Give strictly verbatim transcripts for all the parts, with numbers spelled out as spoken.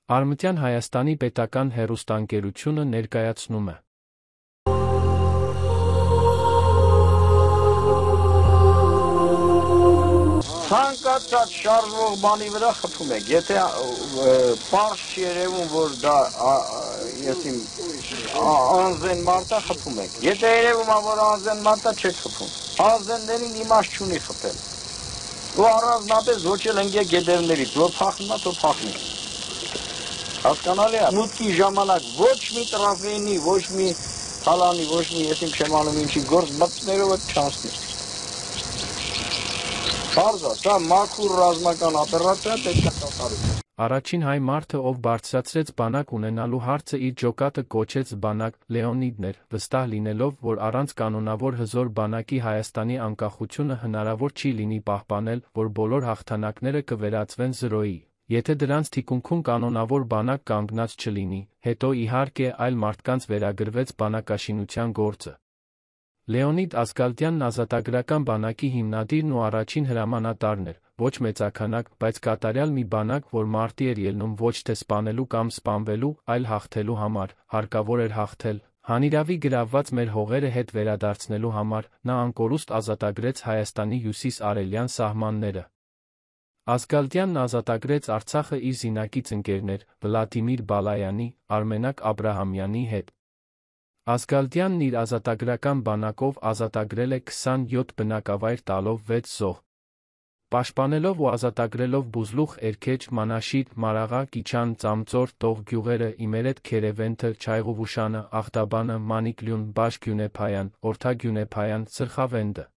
Արմտյան Հայաստանի պետական հեռուստաընկերությունը ներկայացնում է ցանկացած շարժվող բանի վրա խփում եք, եթե պարզ չի երևում, որ դա եսիմ անզեն մարդա խփում եք, եթե երևում է, որ անզեն մարդա չեք խփում, անզեններին իմաստ չունի խփել, ու առանձնապես ոչել ընկե գետերներից, որ փախնում է, թո փախնում է, հասկանալի է, մուտքի ժամանակ ոչ մի տրաֆեյնի, ոչ մի թալանի, ոչ մի եսիմ չեմ անում ինչի գործ մտներով է չանցնի, Պարզա, սա մաքուր ռազմական օպերացիա պետք է կատարվի։ Առաջին հայ մարդը, ով բարձրացրեց բանակ ունենալու հարցը իր ջոկատը կոչեց բանակ, Լեոնիդն էր, վստահ լինելով, որ առանց կանոնավոր հզոր բանակի Հայաստանի անկախությունը հնարավոր չի լինի պահպանել, որ բոլոր հաղթանակները կվերածվեն զրոյի, եթե դրանց թիկունքում կանոնավոր բանակ կանգնած չլինի, հետո իհարկե այլ մարդկանց վերագրվեց բանակաշինության գործը։ Լեոնիդ Ազգալդյանն ազատագրական բանակի հիմնադիրն ու առաջին հրամանատարն էր, ոչ մեծաքանակ, բայց կատարյալ մի բանակ, որ մարտի էր ելնում ոչ թե սպանելու կամ սպանվելու, այլ հաղթելու համար, հարկավոր էր հաղթել, հանիրավի գրավված մեր հողերը հետ վերադարձնելու համար, նա անկորուստ ազատագրեց Հայաստանի հյուսիս-արևելյան սահմանները։ Ազգալդյանն ազատագրեց Արցախը իր զինակից ընկերներ Վլադիմիր Բալայանի, Արմենակ Աբրահամյանի հետ։ Ազգալդյանն իր ազատագրական բանակով ազատագրել է քսանյոթ բնակավայր տալով վեց զոհ։ Պաշտպանելով ու ազատագրելով Բուզլուխ, Էրքեջ, Մանաշիտ, Մարաղա, Կիչան, Ծամծոր, Տող գյուղերը, Իմերետ, Քերևենթը, Չայղուվուշանը, Աղտաբանը, Մանիկլյուն, Բաշ-Գյունեփայան, Օրթա-Գյունեփայան, Սրխավենդը։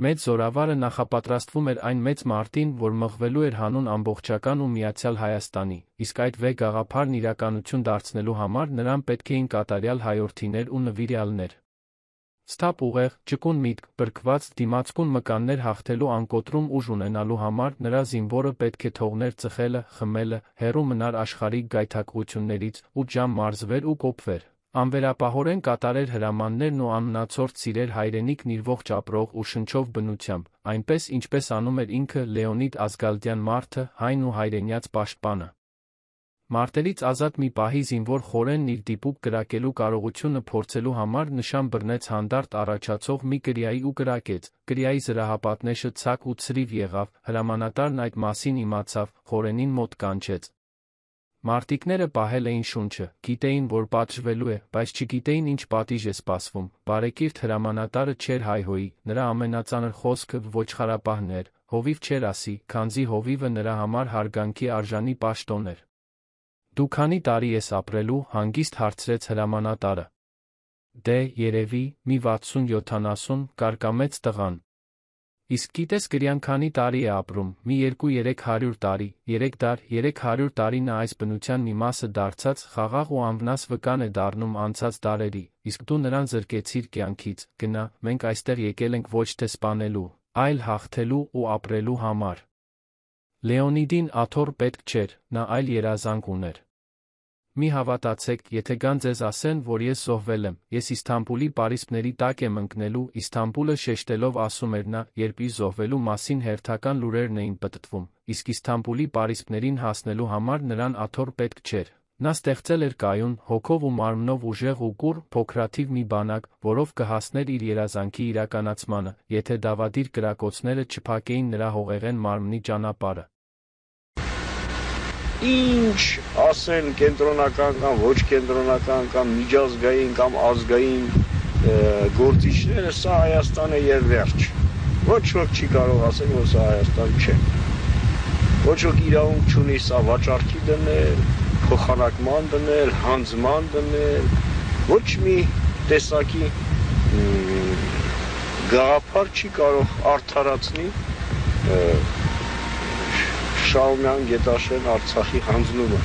Մեծ զորավարը նախապատրաստվում էր այն մեծ մարտին, որ մղվելու էր հանուն ամբողջական ու միացյալ Հայաստանի, իսկ այդ վե գաղափարն իրականություն դարձնելու համար նրան պետք էին կատարյալ հայորդիներ ու նվիրյալներ։ Սթափ ուղեղ, ճկուն միտք, բրկված, դիմացկուն մկաններ հաղթելու անկոտրում ուժ ունենալու համար նրա զինվորը պետք է թողներ ծխելը, խմելը, հեռու մնար աշխարհիկ գայթակղություններից, ութ ժամ մարզվեր ու կոփվեր։ Անվերապահորեն կատարեր հրամաններն ու անմնացորդ սիրեր հայրենիքն իր ողջ ապրող ու շնչով բնությամբ, այնպես ինչպես անում էր ինքը Լեոնիդ Ազգալդյան մարդը, հայն ու հայրենյաց պաշտպանը։ Մարտերից ազատ մի պահի զինվոր խորենն իր դիպուկ կրակելու կարողությունը փորձելու համար նշան բռնեց հանդարտ առաջացող մի կրիայի ու կրակեց, կրիայի զրահապատնեշը ցակ ու ցրիվ եղավ, հրամանատարն այդ մասին իմացավ, խորենին մոտ կանչեց։ Մարտիկները պահել էին շունչը, գիտեին, որ պատժվելու է, բայց չգիտեին ինչ պատիժ է սպասվում, բարեկիրթ հրամանատարը չէր հայհոյի, նրա ամենածանր խոսքը ոչխարապահն էր, հովիվ չէր ասի, քանզի հովիվը նրա համար հարգանքի արժանի պաշտոն էր։ Դու քանի տարի ես ապրելու, հանգիստ հարցրեց հրամանատարը։ Դե, երևի, մի վաթսուն-յոթանասուն, կարկամեց տղան։ Իսկ գիտես կրյան քանի տարի է ապրում, մի երկու-երեք հարյուր տարի, երեք դար, երեք հարյուր տարի նա այս բնության մի մասը դարձած, խաղաղ ու անվնաս վկան է դառնում անցած դարերի, իսկ դու նրան զրկեցիր կյանքից, գնա, մենք այստեղ եկել ենք ոչ թե սպանելու, այլ հաղթելու ու ապրելու համար։ Լեոնիդին աթոռ պետք չէր, նա այլ երազանք ուներ։ Մի հավատացեք, եթե գան ձեզ ասեն, որ ես զոհվել եմ, ես Իսթանբուլի պարիսպների տակ եմ ընկնելու, Իսթանբուլը շեշտելով ասում էր նա, երբ իր զոհվելու մասին հերթական լուրերն էին պտտվում, իսկ Իսթանբուլի պարիսպներին հասնելու համար նրան աթոռ պետք չէր։ Նա ստեղծել էր կայուն, հոգով ու մարմնով ուժեղ ու կուռ, փոքրաթիվ մի բանակ, որով կհասներ իր երազանքի իրականացմանը, եթե դավադիր կրակոցները չփակեին նրա հողեղեն մարմնի ճանապարհը։ Ինչ ասեն կենտրոնական կամ ոչ կենտրոնական կամ միջազգային կամ ազգային գործիչները, սա Հայաստան է եւ վերջ։ Ոչ ոք չի կարող ասել, որ սա Հայաստան չէ։ Ոչ ոք իրավունք չունի սա վաճառքի դնել, փոխանակման դնել, հանձնման դնել, ոչ մի տեսակի գաղափար չի կարող արդարացնի Շահումյան Գետաշեն Արցախի հանձնումը։